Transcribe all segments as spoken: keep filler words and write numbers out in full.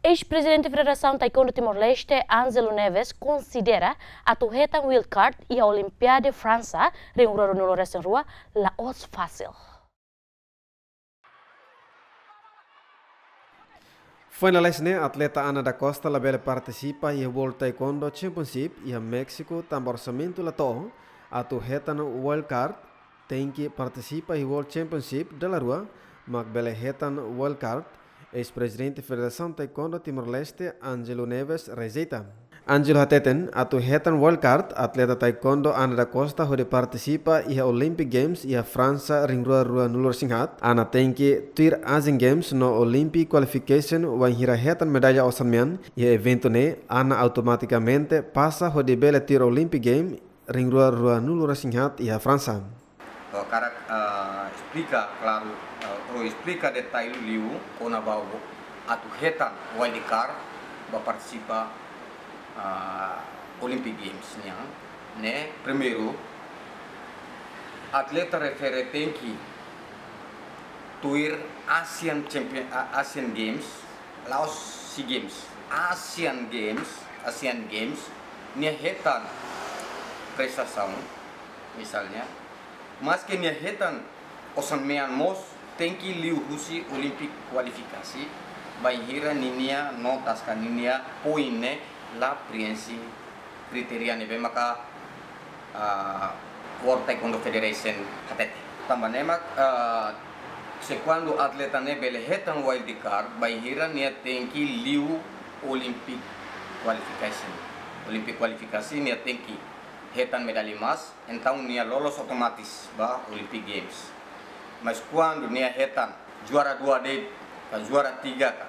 Eis-prezidente Federasaun Taekwondo Timor-Leste, Ângelo Neves, konsidera atu hetan wildcard iha Olimpiade Fransa rihun rua ruanulu resin rua la'ós fasil. Foin lalais ne'e, atleta Ana da Costa labele partisipa iha World Taekwondo Championship iha Méxiku tanba orsamentu la to'o. Atu hetan wildcard, tenke partisipa iha World Championship dala rua mak bele hetan wildcard, eis-prezidente Federasaun Taekwondo Timor-Leste, Ângelo Neves, rejeita. Ângelo hateten, atu hetan wildcard, atleta taekwondo Ana da Costa hodi partisipa iha Olympic Games iha Fransa rihun rua ruanulu resin haat. Ana tenke tuir Asian Games no Olympic Qualification, wainhira hetan medalla osan-mean iha eventu ne'e, Ana automatikamente pasa hodi bele tuir Olympic Game rihun rua ruanulu resin haat iha Fransa. Ha'u hakarak, ah, esplika klaru, ah, ou esplika detalle liu kona-ba atu hetan wildcard ba partisipa, ah, Olympic Games nian, ne'e. Primeiru, atleta refere tenke tuir Asian Champion, ah, Asian Games, la'ós SEA Games, Asian Games, Asian Games, nia hetan prestasaun, misalnya, maske nia hetan osan-mean mós, tenke liuhusi Olympic kualifikasi, bainhira ninia notas ka ninia poin ne'e la preenxe kritéria ne'ebé maka, ah, World Taekwondo Federation hatete. Tanba ne'e mak, ah, se kuandu atleta ne'e bele hetan wildcard, bainhira nia tenke liu Olympic qualification. Olympic kualifikasi nia tenke hetan medalla emas, entaun nia loloos otomatis ba Olympic Games. Mas kuandu nia hetan juara dua de'it, ka juara tiga ka,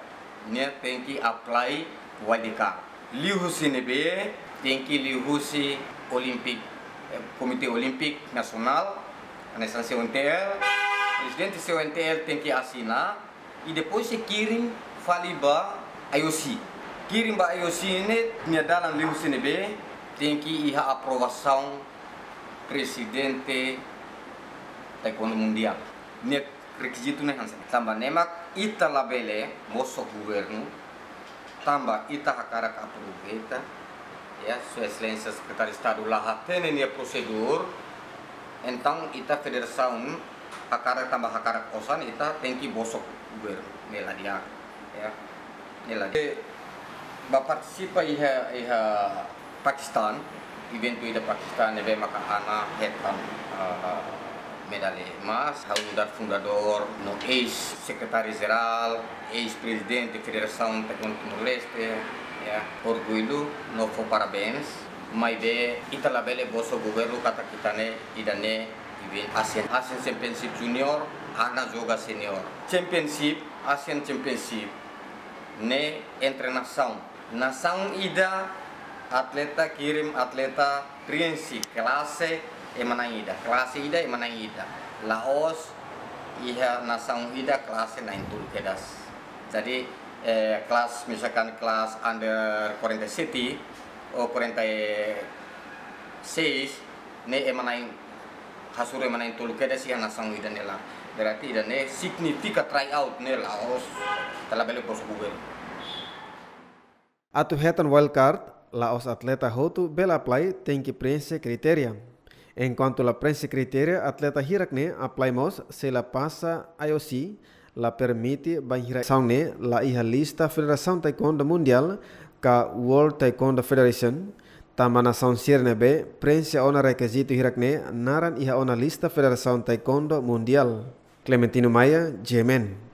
nia tenke apply wildcard. Liuhusi ne'ebé? Tenke liuhusi Olympic, eh, Komité Olímpiku Nasionál, hanesan C O N T L, prezidente C O N T L tenke asina, i depois sei kirim fali ba I O C. Kirim ba I O C ne'e, nia dalan liuhusi ne'ebé? Tenke iha aprovasaun prezidente Taekwondo Mundiál. Nia rekizitu ne'e hanesan. Tanba ne'e mak ita labele bosok governu, tanba ita hakarak aproveita, ya, Sua Exelénsia Sekretáriu Estadu la hatene nia prosedur, entaun ita federasaun hakarak tanba hakarak osan, ita tenke bosok governu, ne'e la di'ak, ya. Ne'e la di'ak. Ba partisipa iha, iha Pakistan, eventu ida Pakistan ne'ebé maka Ana hetan, ah, medalla emas, ha'u nu'udar fundadór, no eis-sekretáriu jerál, eis-prezidente Federasaun Taekwondo Timor-Leste, ya, orgullu, no fó parabéns, maibé ita labele bosok governu katak ita-nia, ida-ne'e, eventu Asian, Asian Championship Junior, Ana joga senior. Championship, Asian Championship, ne'e entre nasaun. Nasaun ida, atleta kirim atleta preenxe klase ema na'in ida, klase ida ema na'in ida. La'ós iha nasaun ida klase na'in-tolu kedas. Jadi, eh, kelas, misalkan kelas under quarenta e sete ou quarenta e seis, ne'e ema na'in, hasoru ema na'in-tolu kedas iha nasaun ida-ne'e laran. Berarti ida-ne'e signifika tryout ne'e la'ós, ita labele bosok governu. Atu hetan wildcard, la'ós atleta hotu bele apply, tenke preenxe kritéria. Enkuantu la preenxe kritéria, atleta hirak ne'e apply mós, se la pasa I O C, la permite, bainhira nasaun ne'e la iha lista Federasaun Taekwondo Mundiál ka World Taekwondo Federation, tanba nasaun sira ne'ebé preenxe ona rekizitu hirak ne'e naran iha ona lista Federasaun Taekwondo Mundiál. Clementino Maia, G M N.